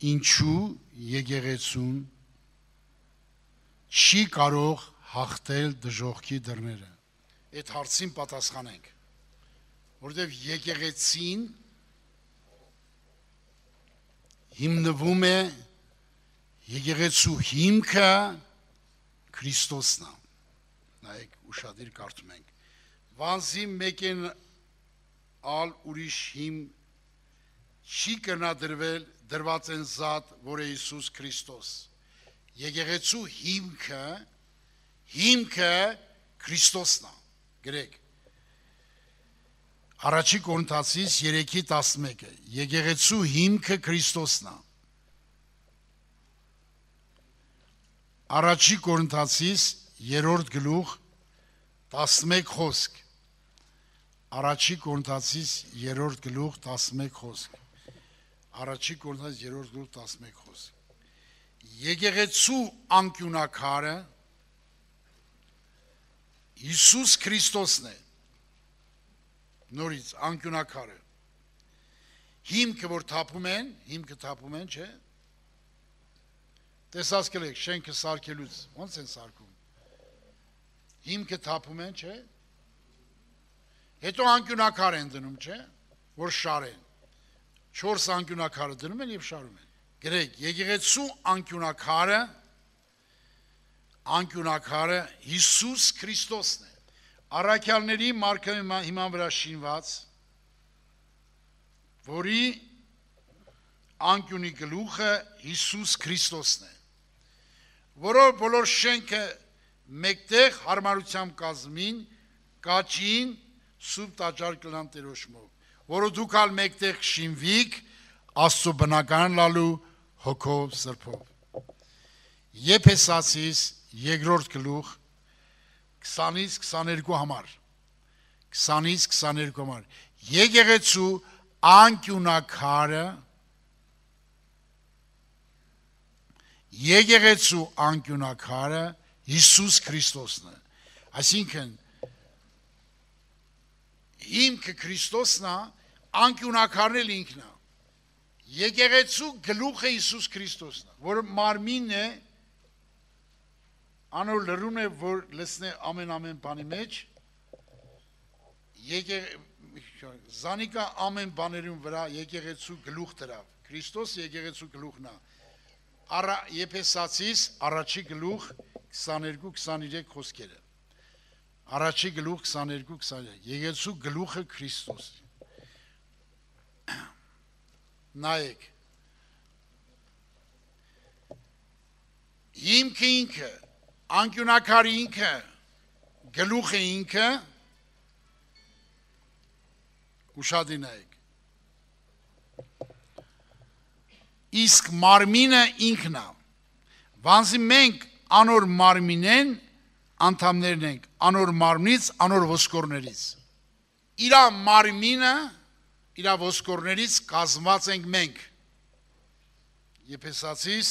ինչու եկեղեցուն չի կարող հաղթել դժոխքի դռները։ Այդ հարցին պատասխանենք, որովհետև եկեղեցին հիմնվում է, եկեղեցու հիմքը Քրիստոսն է։ Նայեք, ուշադիր կարդում ենք։ Վանզի մեկեն ալ ուրիշ հիմ չի կնա դրված են զատ, որ է Հիսուս Քրիստոս։ Եկեղեցու հիմքը Քրիստոսն է։ Գրեք։ Առաջի Կորինթացիս 3:11 եկեղեցու հիմքը Քրիստոսն է։ Առաջի Կորինթացիս 3-րդ գլուխ 11 խոսք։ Առաջի Կորինթացիս 3-րդ գլուխ 11 խոսք։ Առաջի Կորինթացիս 3-րդ գլուխ 11 խոսք։ Եկեղեցու անկյունակարը Հիսուս Քրիստոսն է։ Նորից անկյունակարը։ Հիմքը որ թափում են, չէ՞։ Տեսած կլեք, շենքը սարքելուց, ոնց են սարքում։ Հիմքը թափում են, չէ՞։ Հետո անկյունակար են դնում, չէ՞, որ շարեն։ 4 անկյունակարը դնում են եւ շարում են։ Գրեք, եկեղեցու անկյունակարը Հիսուս Քրիստոսն է։ Առաքյալների մարգարեի հիման վրա շինված, որի անկյունի գլուխը Հիսուս Քրիստոսն է։ Որով բոլոր շենքը մեկտեղ հարմարությամբ կազմին, կաչին սուրբ տաճար կլան Տերոջմով, որը դուք ալ մեկտեղ շինվիք Աստծո բնական լալու հոգով սրբով։ Եփեսացիս 2-րդ գլուխ 20-ից 22 համար։ 20-ից 22 համար։ Եկեղեցու անկյունակարը Հիսուս Քրիստոսն է։ Այսինքն հիմքը Քրիստոսն է, անկյունակարն էլ ինքն է։ Եկեղեցու գլուխը Հիսուս Քրիստոսն է, որ մարմինն է, անոր լրուն է, որ լցնե ամեն բանի մեջ, զանիկա ամեն բաներուն վրա եկեղեցու գլուխ դրավ, Քրիստոս եկեղեցու գլուխն է։ Եփեսացիս առաջի գլուխ 22-23 խոսքերը։ Առաջի գլուխ 22-23 եկեղեցու գլուխը Քրիստոս։ Նայեք։ Հիմքը ինքը, անկյունակարի ինքը, գլուխը ինքը, ուշադի նայեք։ Իսկ մարմինը ինքն է։ Վանզի մենք անոր մարմինեն անդամներն ենք, անոր մարմնից, անոր ոսկորներից։ Իրա մարմինը, իրա ոսկորներից կազմված ենք մենք։ Եփեսացիս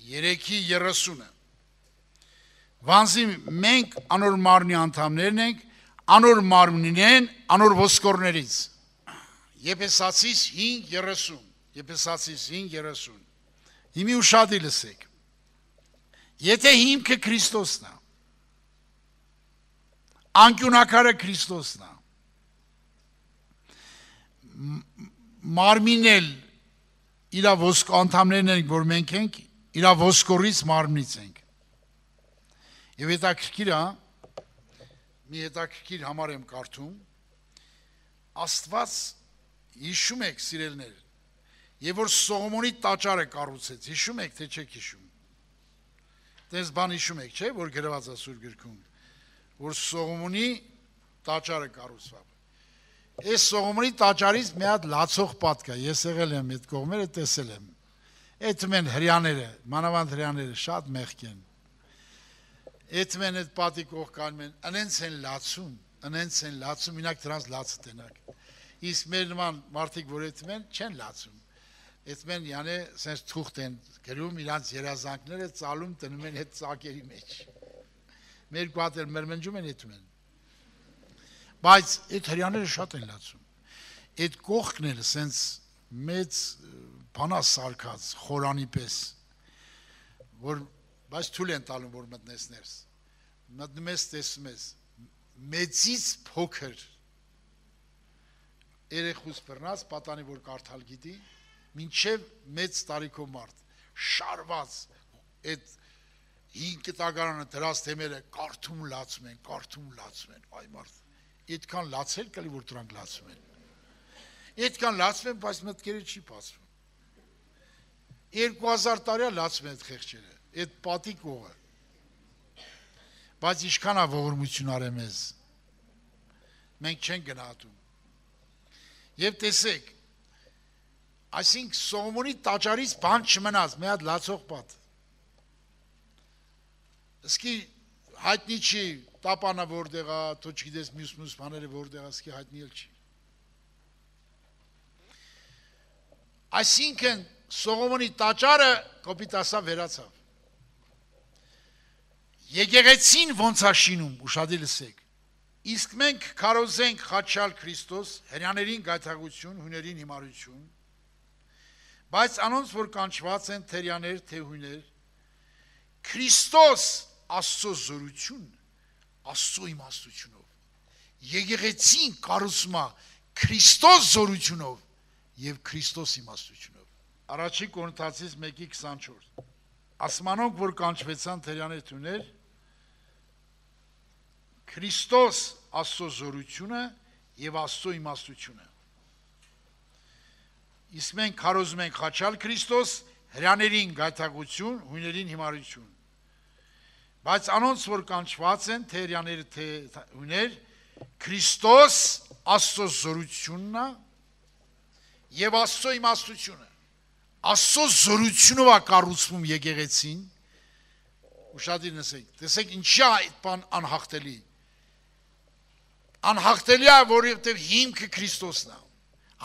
3:30-ը։ Վանզի մենք անոր մարմնի անդամներն ենք, անոր մարմնին են, անոր ոսկորներից։ Եփեսացիս 5:30 Եփեսացիս 5:30 Հիմի ուշադի լսեք։ Եթե հիմքը Քրիստոսն է, անկյունակարը Քրիստոսն է, մարմինել իրա անդամներն ենք, որ մենք ենք, իրա ոսկորից մարմնից ենք։ Եվ հետաքրքիր է, մի հետաքրքիր համար եմ կարդում, Աստված հիշում եք սիրելներ, եւ որ Սողոմոնի տաճարը կառուցեց, հիշում եք թե չեք հիշում։ Դες բան հիշում եք, չէ՞, որ գրված է Սուրբ գրքում, որ Սողոմոնի տաճարը կառուցվավ։ Այս Սողոմոնի տաճարից մի հատ լացող պատ կա, ես եղել եմ այդ կողմերը, տեսել եմ։ Այդ մեն հрьяաները, մանավանդ հрьяաները շատ մեղք են։ Այդ մեն այդ պատի կողք կանում են, անենց են լացում, մինակ դրանց լացը տենակ։ Իսկ մեր նման մարդիկ, որ այդ մեն, չեն լացում։ Այդ մեն յանը սենց թուղթ են գրում, իրանց երազանքները ծալում տնում են այդ ծակերի մեջ։ Մեր կուատեր մրմնջում են այդ մեն։ Բայց այդ հрьяաները շատ են լացում։ Այդ կողքն էլ սենց մեծ բանա սարկած, խորանի պես, որ բայց թույլ են տալում, որ մտնես ներս, մտնում ես, տեսում ես, մեծից փոքր, երեխուց բռնած, պատանի, որ կարդալ գիտի, մինչև մեծ տարիքով մարդ, շարված, այդ 5 տակարանը դրած թեմերը կարդում լացում են, այ մարդ, այդքան լացել կլի, որ դրանք լացում են, այդքան լացում են, բայց մտքերը չի բացվում, 2000 տարյա լացում են այդ խեղճերը, այդ պատիկ ողը, բայց ինչքան է ողորմություն արեմ ես, մենք չենք գնահատում, և տեսեք, այսինք Սողոմոնի տաճարից բան չմնաց, մի հատ լացող պատ, Սկի հայտնի չի, տապանը որտեղ է, թո չգիտես մյուս բաները որտեղ է, սկի հայտնի էլ չի։ Այսինքն Սողոմոնի տաճարը կոպիտասա վերացավ։ Եկեղեցին ոնց է շինում, ուշադիր լսեք։ Իսկ մենք քարոզենք խաչյալ Քրիստոս, հրեաներին գայթակղություն, հույներին հիմարություն, բայց անոնց որ կանչված են թե հրեաներ, թե հույներ, Քրիստոս Աստծո զորություն, Աստծո իմաստությունով, եկեղեցին կառուցում է Քրիստոս զորությունով և Քրիստոս իմաստությունով։ Առաջին Կորինթացիս 1:24 ասմանոնք, որ կանչվեցան թե հրեաներ, թե հույներ, Քրիստոս Աստծո զորությունը և Աստծո իմաստությունը։ Իսկ մենք քարոզում ենք խաչյալ Քրիստոս, հրեաներին գայթակղություն, հույներին հիմարություն։ Բայց անոնց, որ կանչված են, թե հրեաներ, թե հույներ, Քրիստոս Աստծո զորությունն է և Աստծո իմաստությունը։ Աստծո զորությունով է կառուցվում եկեղեցին, ուշադիր լսեք, տեսեք ինչի է այդ բան անհաղթելի։ Անհաղթելի է, որովհետև հիմքը Քրիստոսն է։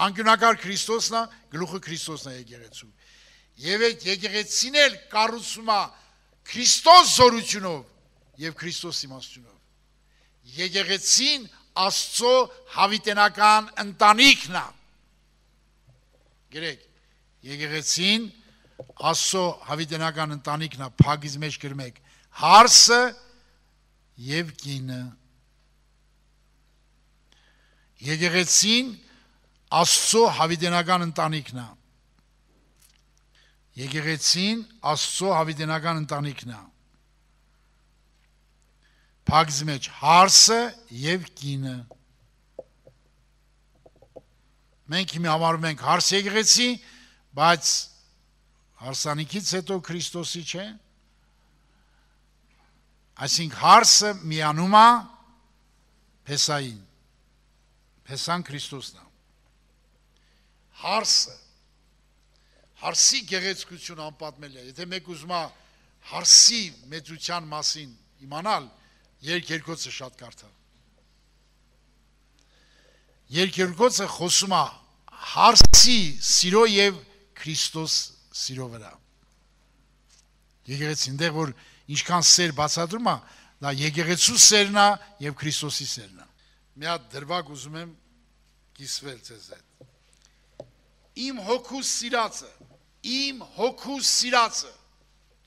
Անկյունակար Քրիստոսն է, գլուխը Քրիստոսն է եկեղեցու։ Եվ այդ եկեղեցին էլ կառուցվում է Քրիստոս զորությունով և Քրիստոս իմաստությունով։ Եկեղեցին Աստծո հավիտենական ընտանիքն է։ Գրեք, եկեղեցին Աստծո հավիտենական ընտանիքն է, փագից մեջ գրում եք, հարսը և կինը։ Եկեղեցին Աստծո հավիտենական ընտանիքն է։ Եկեղեցին Աստծո հավիտենական ընտանիքն է։ Փագից մեջ հարսը և կինը։ Մենք հիմա համարում ենք հարս եկեղեցի, բայց հարսանիքից հետո Քրիստոսի չէ։ Այսինքն հարսը միանում է Փեսային։ Փեսան Քրիստոսն է։ Հարսը Հարսի գեղեցկություն անպատմել է, եթե մեկ ուզում է հարսի մեծության մասին իմանալ, երկերկոցը շատ կարդա։ Երկերկոցը խոսում է հարսի սիրո և Քրիստոս սիրո վրա։ Եկեղեցին դեղ, որ ինչքան սեր բացատրում է, դա եկեղեցու սերն է և Քրիստոսի սերն է։ Մի հատ դրվագ ուզում եմ կիսվել ձեզ հետ։ Իմ հոգուս սիրածը, իմ հոգուս սիրածը,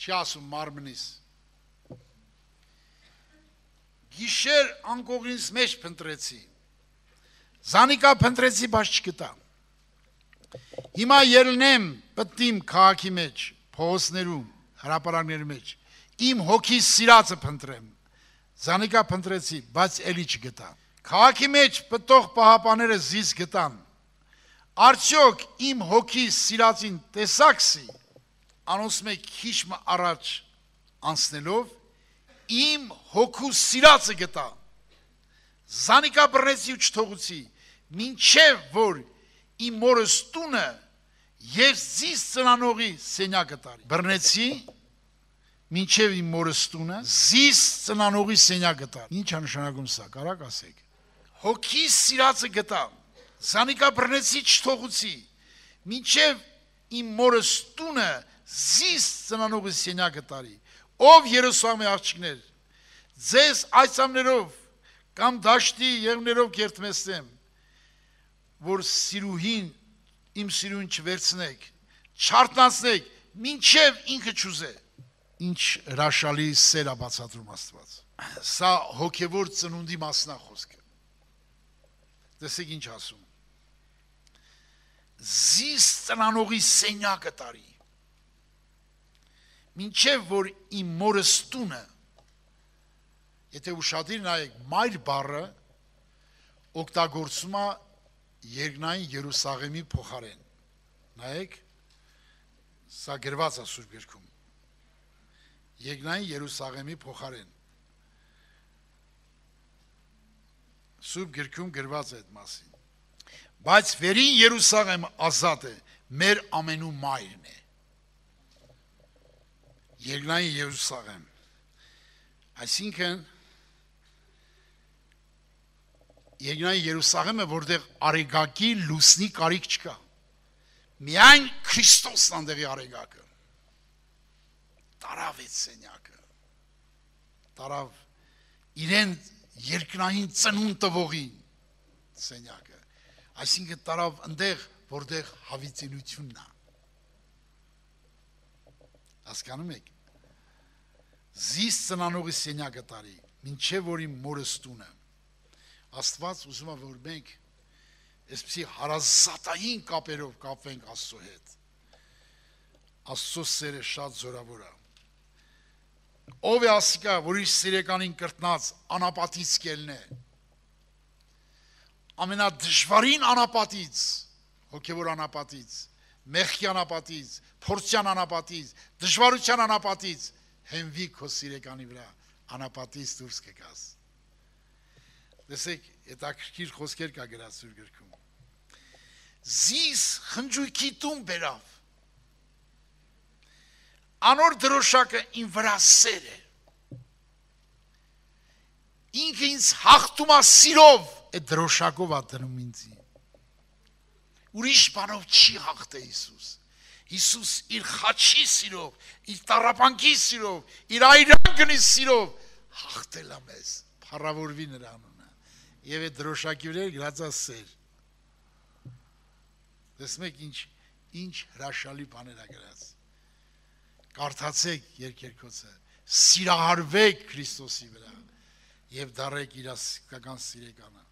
չի ասում մարմնիս, գիշեր անկողինս մեջ փնտրեցի, զանիկա փնտրեցի, բայց չգտա, հիմա ելնեմ պտիմ քաղաքի մեջ, փողոցներում, հրապարակների մեջ, իմ հոգիս սիրածը փնտրեմ, զանիկա փնտրեցի, բայց էլի չգտա, քաղաքի մեջ պտող պահապաները զիս գտան, Արդյոք իմ հոգիս սիրածին տեսաքսի, անոնց մեկ քիչ առաջ անցնելով, իմ հոգուս սիրածը գտա, զանիկա բռնեցի ու չթողուցի, մինչև որ իմ մորս տունը և զիս ծնանողի սենյակը տարի։ Բռնեցի, մինչև իմ մորս տունը, զիս ծնանողի սենյակը տարի։ Ինչ է նշանակում սա, կարաք ասեք։ Հոգիս սիրածը գտա, Զանիկա բռնեցի չթողուցի, մինչև իմ մորս տունը զիս ծնանողի սենյակը տարի, ով Երուսաղեմի աղջիկներ, ձեզ այցամներով կամ դաշտի եղներով կերտմեցնեմ, որ սիրուհին, իմ սիրուհին չվերցնեք, չարտնացնեք, մինչև ինքը չուզե։ Ինչ հրաշալի սեր է բացատրում Աստված։ Սա հոգևոր ծնունդի մասն է խոսքը։ Տեսեք ինչ ասում։ Զիս ծնանողի սենյակը տարի։ Մինչև որ իմ մորս տունը, եթե ուշադիր նայեք, մայր բառը օգտագործում է երկնային Երուսաղեմի փոխարեն։ Նայեք, սա գրված է Սուրբ գրքում։ Երկնային Երուսաղեմի փոխարեն։ Սուրբ գրքում գրված է այդ մասին։ Բայց վերին Երուսաղեմը ազատ է, մեր ամենու մայրն է։ Երկնային Երուսաղեմ։ Այսինքն Երկնային Երուսաղեմը, որտեղ արեգակի լուսնի կարիք չկա։ Միայն Քրիստոսն անդեղի արեգակը։ Տարավ այդ սենյակը։ Տարավ իրեն երկնային ծնունդ տվողին սենյակը։ Այսինքն տարավ ընդեղ, որտեղ հավիտենությունն է։ Հասկանում եք։ Զիս ծնանողի սենյակը տարի, մինչև որ իմ մորս տունը։ Աստված ուզում է, որ մենք այսպիսի հարազատային կապերով կապվենք Աստծո հետ։ Աստծո սերը շատ զորավոր է։ Ով է ասիկա, որ իր սիրեկանին կրտնած անապատից կելն է։ Ամենադժվարին անապատից, հոգևոր անապատից, մեղքի անապատից, փորձյան անապատից, դժվարության անապատից, հենվի քո սիրեկանի վրա, անապատից դուրս կգաս։ Տեսեք, հետաքրքիր խոսքեր կա գրած Սուրբ գրքում։ Զիս խնջույքի տուն բերավ։ Անոր դրոշակը իմ վրա սեր է։ Ինքը ինձ հաղթում է սիրով, այդ դրոշակով է դնում ինձի։ Ուրիշ բանով չի հաղթե Հիսուս։ Հիսուս իր խաչի սիրով, իր տառապանքի սիրով, իր այրանկնի սիրով հաղթել է մեզ, փառավորվի նրա անունը։ Եվ այդ դրոշակի վրա գրած է սեր։ Տեսնում եք ինչ հրաշալի բաներ է գրած։ Կարդացեք երկերկոցը, սիրահարվեք Քրիստոսի վրա եւ դառեք իր իսկական սիրեկանը։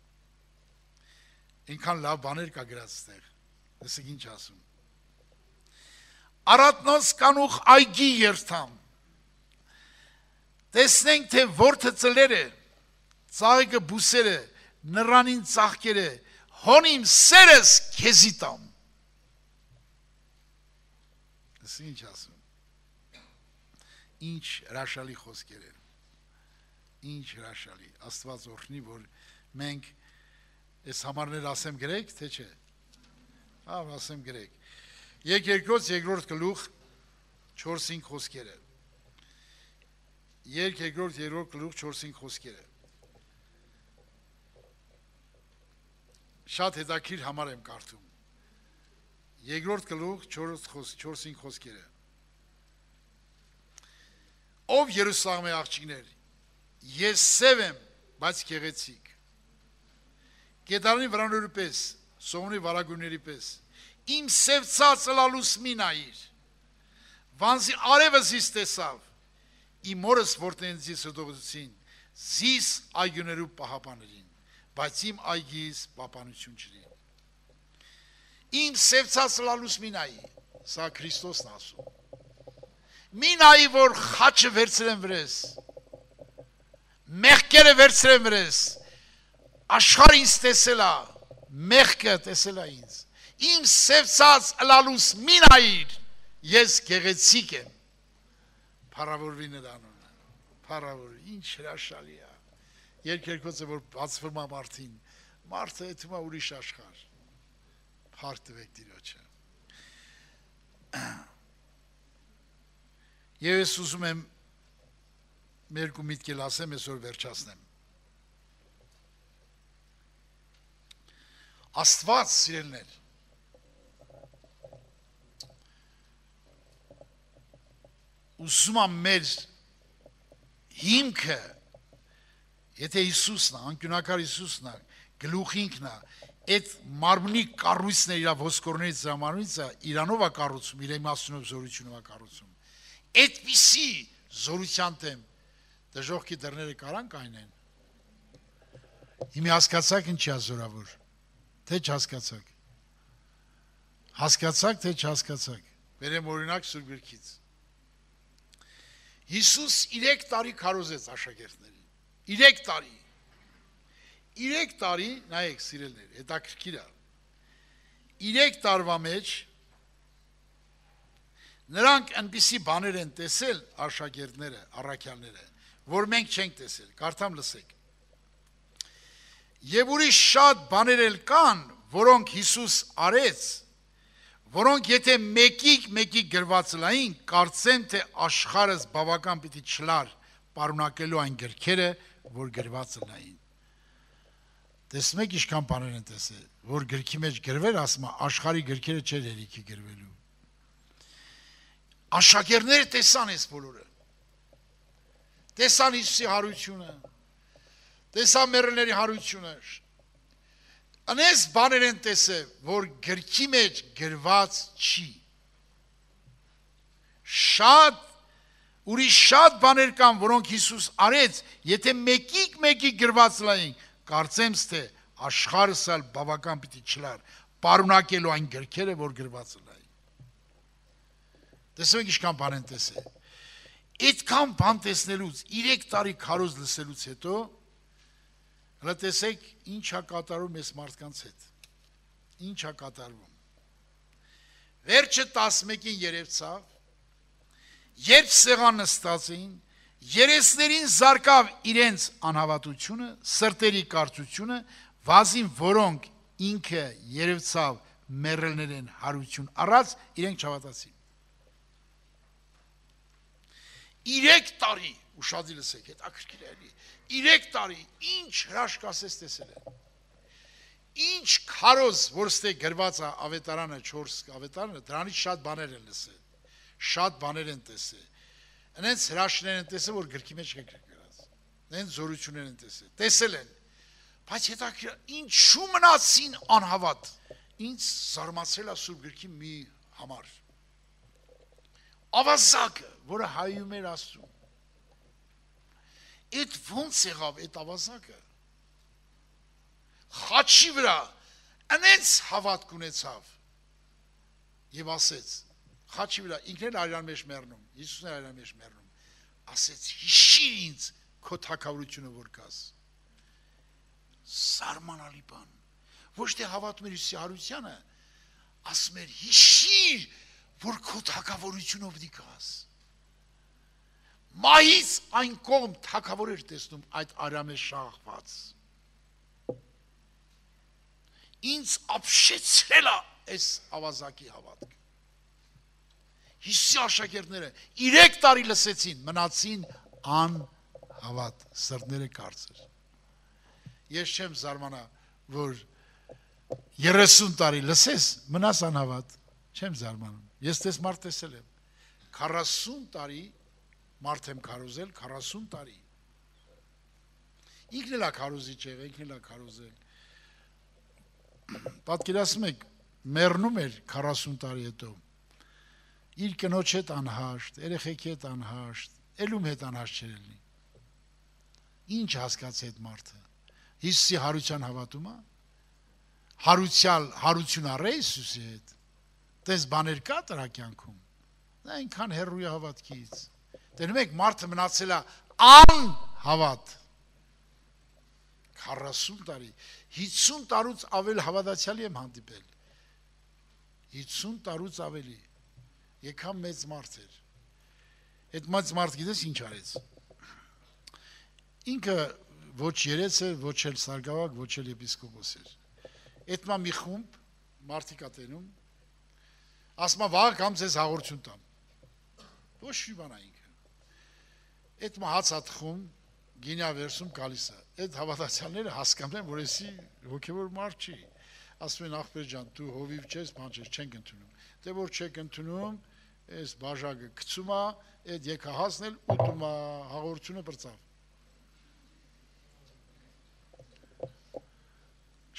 Ինքան լավ բաներ կա գրած այդտեղ։ Տեսեք ինչ ասում։ Արատնոց կանուխ այգի երթամ։ Տեսնենք թե որդը ծլեր է, ծաղիկը բուսեր է, նռանին ծաղկեր է, հոնիմ սերս քեզի տամ։ Տեսեք ինչ ասում։ Ինչ հրաշալի խոսքեր են, ինչ հրաշալի, Աստված օրհնի, որ մենք այս համարներ ասեմ գրեք, թե չէ, ասեմ գրեք, երկրորդ գլուխ 4-5 խոսքերը, երկրորդ գլուխ 4-5 խոսքերը, շատ հետաքրքիր համար եմ կարդում, երկրորդ գլուխ 4-5 խոսքերը, Ով Երուսաղեմի աղջիկներ, ես սև եմ, բայց գեղեցիկ։ Գետարանի վրանորի պես, սողունի վարագույրների պես, իմ սևծած ըլալուս մի նայիր, վանզի արևը զիս տեսավ, իմ մորս որտեն զիս հդողեցին, զիս այգուներու պահապաներին, բայց իմ այգիս պապանություն չրի։ Իմ սևծած ըլալուս մի նայի, սա Քրիստոսն ասում։ Մի նայի, որ խաչը վերցրեմ վրես, մեղքերը վերցրեմ վրես, աշխարհը ինձ տեսել է, մեղքը տեսել է ինձ, իմ սևծած ըլալուս մի նայիր, ես գեղեցիկ եմ, փառավորվի նրա անունը, փառավորվի, ինչ հրաշալի է, երկերկոցը, որ բացվում է մարդին, մարդը եթում է ուրիշ աշխարհ, փառք տվեք Տիրոջը։ Եվ ես ուզում եմ մերկու միտքել ասեմ, այսօր վերջացնեմ։ Աստված սիրելներ, ուզում է մեր հիմքը, եթե Հիսուսն է, անկյունակար Հիսուսն է, գլուխինքն է, այդ մարմնի կառույցն է իր ոսկորներից զամանույցը իրանով է կառուցում, իր իմաստունով զորությունով է կառուցում։ Այդպիսի զորության դեմ դժոխքի դռները կարան կայնեն։ Հիմա հասկացաք ինչի է զորավոր, թե չհասկացաք։ Հասկացաք, թե չհասկացաք։ Բերեմ օրինակ Սուրբ Գրքից։ Հիսուս 3 տարի քարոզեց աշակերտներին։ 3 տարի։ 3 տարի, նայեք սիրելներ, հետաքրքիր է։ 3 տարվա մեջ նրանք այնպիսի բաներ են տեսել աշակերտները, առաքյալները, որ մենք չենք տեսել, կարդամ լսեք։ Եվ ուրիշ շատ բաներ էլ կան, որոնք Հիսուս արեց, որոնք եթե մեկի գրված լային, կարծեմ, թե աշխարհս բավական պիտի չլար պարունակելու այն գրքերը, որ գրված լային։ Տեսնում եք ինչքան բաներ են տեսել, որ գրքի մեջ գրվել, ասում է, աշխարհի գրքերը չէր հերիքի գրվելու։ Աշակերտները տեսան այս բոլորը։ Տեսան Հիսուսի հարությունը, տեսան մեռելների հարությունը։ Անես բաներ են տեսել, որ գրքի մեջ գրված չի։ Ուրիշ շատ բաներ կան, որոնք Հիսուս արեց, եթե մեկի գրված լային, կարծեմ, թե աշխարհս էլ բավական պիտի չլար պարունակելու այն գրքերը, որ գրված լային։ Տեսնում եք ինչքան բան են տեսել։ Այդքան բան տեսնելուց, 3 տարի քարոզ լսելուց հետո հələ տեսեք ինչ է կատարում այս մարդկանց հետ։ Ինչ է կատարվում։ Վերջը 11-ին երևցավ, երբ սեղան նստած էին, երեսներին զարկավ իրենց անհավատությունը, սրտերի կարծությունը, վազին որոնք ինքը երևցավ մեռելներին հարություն առած, իրենք չհավատացին։ 3 տարի, ուշադիր լսեք, հետաքրքիր է, 3 տարի ինչ հրաշք ասես տեսել են։ Ինչ քարոզ, որ ստե գրված է ավետարանը 4 ավետարանը, դրանից շատ բաներ են լսել։ Շատ բաներ են տեսել։ Այնց հրաշքներ են տեսել, որ գրքի մեջ չեն գրված։ Այնց զորություններ են տեսել։ Տեսել են։ Բայց հետաքրքիր ինչու մնացին անհավատ։ Ինչ զարմացել է Սուրբ գրքի մի համար։ Ավազակը, որը հայում էր Աստծուն։ Այդ ոնց եղավ այդ ավազակը։ Խաչի վրա այնց հավատք ունեցավ եւ ասեց, խաչի վրա ինքն էլ արյան մեջ մեռնում, Հիսուսն էլ արյան մեջ մեռնում, ասեց հիշիր ինձ քո թագավորությունը որ կաս։ Սարմանալի բան։ Ոչ թե հավատում էր Հիսուսի հարությանը, ասում էր հիշիր, որ քո թագավորությունը պիտի կաս։ Մահից այն կողմ թագավոր էր տեսնում այդ արյամե շաղված։ Ինձ ապշեցրել է այս ավազակի հավատքը։ Հիսուսի աշակերտները 3 տարի լսեցին, մնացին անհավատ, սրտները կարծր։ Ես չեմ զարմանա, որ 30 տարի լսես, մնաս անհավատ, չեմ զարմանում։ Ես տես մարդ տեսել եմ, 40 տարի մարդ եմ քարոզել, 40 տարի։ Ինքն էլ է քարոզիչ եղել, ինքն էլ է քարոզել։ Պատկերացնում եք, մեռնում էր 40 տարի հետո։ Իր կնոջ հետ անհաշտ, երեխեքի հետ անհաշտ, ելում հետ անհաշտ չէր լինի։ Ինչ հասկացի այդ մարդը։ Հիսուսի հարության հավատում է։ Հարություն առե Հիսուսի հետ։ Տես բաներ կա դրա կյանքում։ Նա այնքան հեռու է հավատքից։ Տենում եք մարդը մնացել է անհավատ 40 տարի, 50 տարուց ավել հավատացյալի եմ հանդիպել, 50 տարուց ավելի, եկամ մեծ մարդ էր, այդ մեծ մարդ գիտես ինչ արեց, ինքը ոչ երեց էր, ոչ էլ սարգավակ, ոչ էլ եպիսկոպոս էր, այդ մի խումբ մարդիկ ատենում, ասմա վաղ կամ ձեզ հաղորդություն տամ, ոչ մի բան այնքը, այդ հաց ատխում, գինյա վերսում գալիս է, այդ հավատացյալները հասկանում են, որ էսի հոգևոր մարդ չի, ասում են ախպեր ջան, դու հովիվ չես, բան չես, չենք ընդունում, դե որ չեք ընդունում, այս բաժակը գցում է, այդ եկահասն էլ ուտում է, հաղորդությունը բրծավ։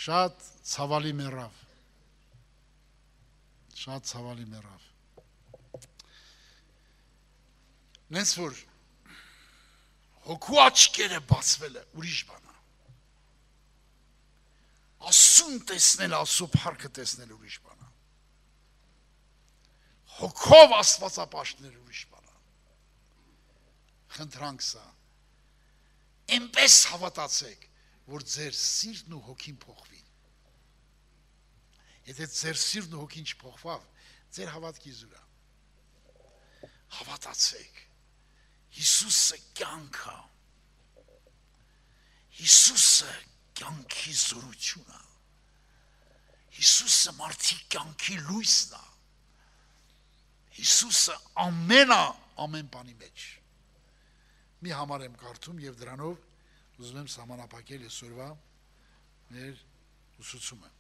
Շատ ցավալի մեռավ։ Շատ ցավալի մեռավ։ Նենց որ հոգու աչքերը բացվել է, ուրիշ բան է։ Աստծուն տեսնել, Աստծո փառքը տեսնել ուրիշ բան է։ Հոգով Աստվածապաշտներ ուրիշ բան է։ Խնդրանք սա։ Այնպես հավատացեք, որ ձեր սիրտն ու հոգին փոխվի։ Եթե ձեր սիրտն ու հոգին չփոխվավ, ձեր հավատքի զուր է։ Հավատացեք։ Հիսուսը կյանք է։ Հիսուսը կյանքի զորություն է։ Հիսուսը մարդի կյանքի լույսն է։ Հիսուսը ամեն բանի մեջ։ Մի համար եմ կարդում եւ դրանով ուզում եմ սահմանափակել այսօրվա մեր ուսուցումը։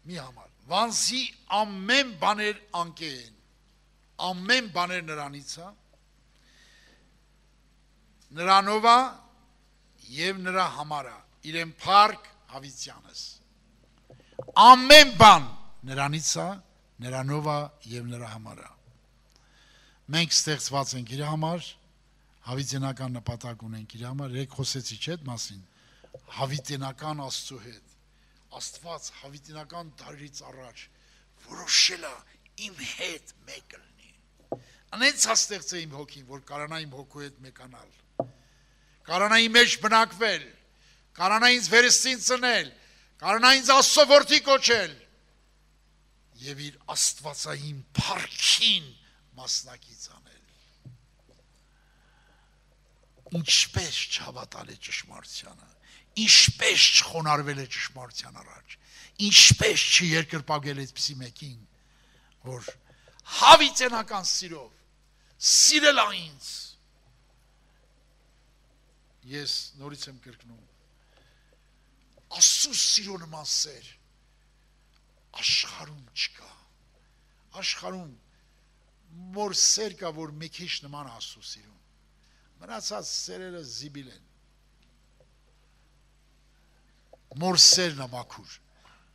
Մի համար։ Վանսի ամեն բաներ անկե են։ Ամեն բաներ նրանից է։ Նրանով է եւ նրա համար է։ Իրեն փառք հավիտյանս։ Ամեն բան նրանից է, նրանով է եւ նրա համար է։ Մենք ստեղծված ենք իր համար, հավիտենական նպատակ ունենք իր համար, երեք խոսեցի չէ՞ այդ մասին։ Հավիտենական Աստծո հետ։ Աստված հավիտենական դարից առաջ որոշել է իմ հետ մեկ լինի։ Անենց հաստեղծե իմ հոգին, որ կարանա իմ հոգու հետ մեկանալ։ Կարանա իմ մեջ բնակվել, կարանա ինձ վերստին ծնել, կարանա ինձ Աստծո որդի կոչել եւ իր աստվածային փառքին մասնակից անել։ Ինչպես չհավատալ է ճշմարտությանը, ինչպես չխոնարհվել է ճշմարտության առաջ, ինչպես չերկրպագել այդպիսի մեկին, որ հավիտենական սիրով սիրել է ինձ։ Ես նորից եմ կրկնում, Աստծո սիրո նման սեր աշխարհում չկա։ Աշխարհում մոր սեր կա, որ մի քիչ նման Աստծո սիրուն։ Մնացած սերերը զիբիլ են։ Մոր սերն է մաքուր։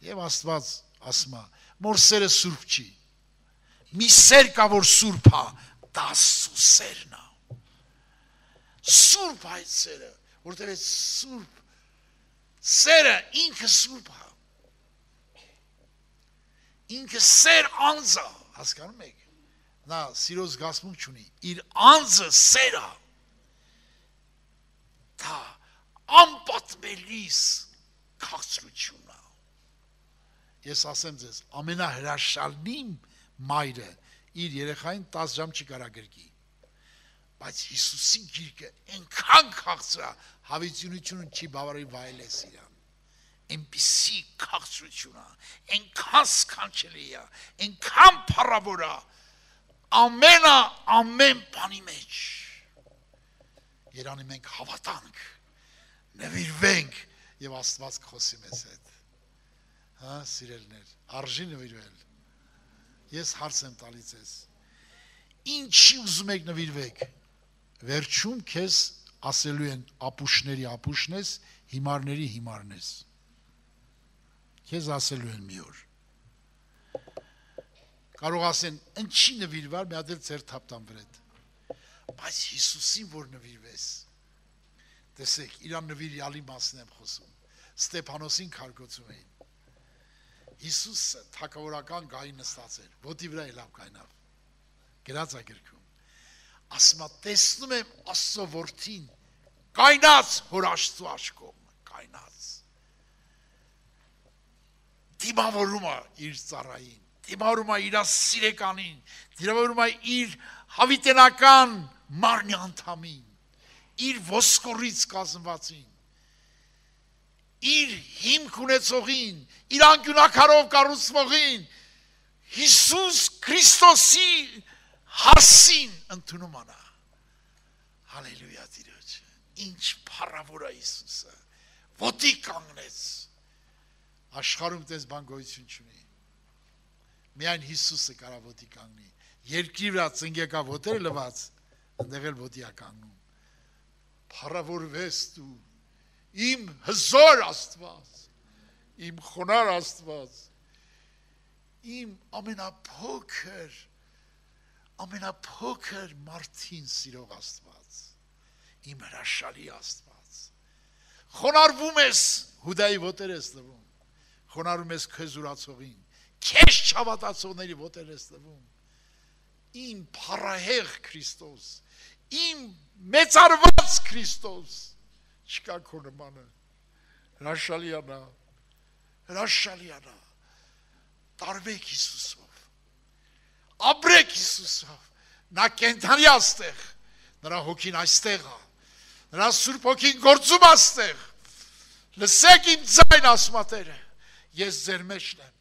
Եվ Աստված ասում է, մոր սերը սուրբ չի։ Մի սեր կա, որ սուրբ է, դա Աստծո սերն է։ Սուրբ այդ սերը, որտեղ է սուրբ սերը ինքը սուրբ է։ Ինքը սեր անձը, հասկանում եք։ Նա սիրո զգացմունք չունի, իր անձը սեր է։ Դա անպատմելիս քաղցրություն է։ Ես ասեմ ձեզ, ամենահրաշալի մայրը իր երեխային 10 ժամ չի կարա գրկի։ Բայց Հիսուսի գիրկը այնքան քաղցր է, հավիտյունությունը չի բավարարի վայելես իրան։ Այնպիսի քաղցրություն է, այնքան սքանչելի է, այնքան փառավոր է, ամեն բանի մեջ։ Երանի մենք հավատանք, նվիրվենք եւ Աստված կխոսի մեզ հետ։ Հա, սիրելներ, արժի նվիրվել։ Ես հարց եմ տալիս ձեզ։ Ինչի ուզում եք նվիրվեք։ Վերջում քեզ ասելու են ապուշների ապուշնես, հիմարների հիմարնես։ Քեզ ասելու են մի օր։ Կարող ասեն, ինչի նվիրվար, մի հատ էլ ձեր թափտան վրետ։ Բայց Հիսուսին որ նվիրվես։ Տեսեք, իրան նվիրյալի մասն եմ խոսում։ Ստեփանոսին քարգոցում էին։ Հիսուսը թագավորական գահի նստած էր, ոտի վրա ելավ կայնավ։ Գրած է գրքում։ Ասում է, տեսնում եմ Աստծո որդին, կայնած հոր Աստծո աչքով, կայնած։ Դիմավորում է իր ծառային, դիմավորում է իր սիրեկանին, դիմավորում է իր հավիտենական մարմնի անդամին, իր ոսկորից կազմվածին, իր հիմք ունեցողին, իր անկյունակարով կառուցվողին, Հիսուս Քրիստոսի հասին ընդունում անա։ Հալելույա Տիրոջ, ինչ փառավոր է Հիսուսը, ոտի կանգնեց, աշխարհում տես բան գոյություն չունի, միայն Հիսուսը կարա ոտի կանգնի, երկրի վրա ծնգեկա ոտերը լված, ընդեղ էլ ոտի է կանգնում, փառավորվես դու, իմ հզոր Աստված, իմ խոնար Աստված, իմ ամենափոքր մարդին սիրող Աստված, իմ հրաշալի Աստված, խոնարվում ես Հուդայի ոտեր ես տվում, խոնարվում ես քեզ ուրացողին, քեզ չհավատացողների ոտեր ես տվում, իմ փառահեղ Քրիստոս, իմ մեծարված Քրիստոս, չկա քո նմանը, հրաշալի անա, տարվեք Հիսուսով, ապրեք Հիսուսով, նա կենդանի աստեղ, նրա հոգին այստեղ է, նրա Սուրբ հոգին գործում աստեղ, լսեք իմ ձայն ասմատերը, ես ձեր մեջն եմ,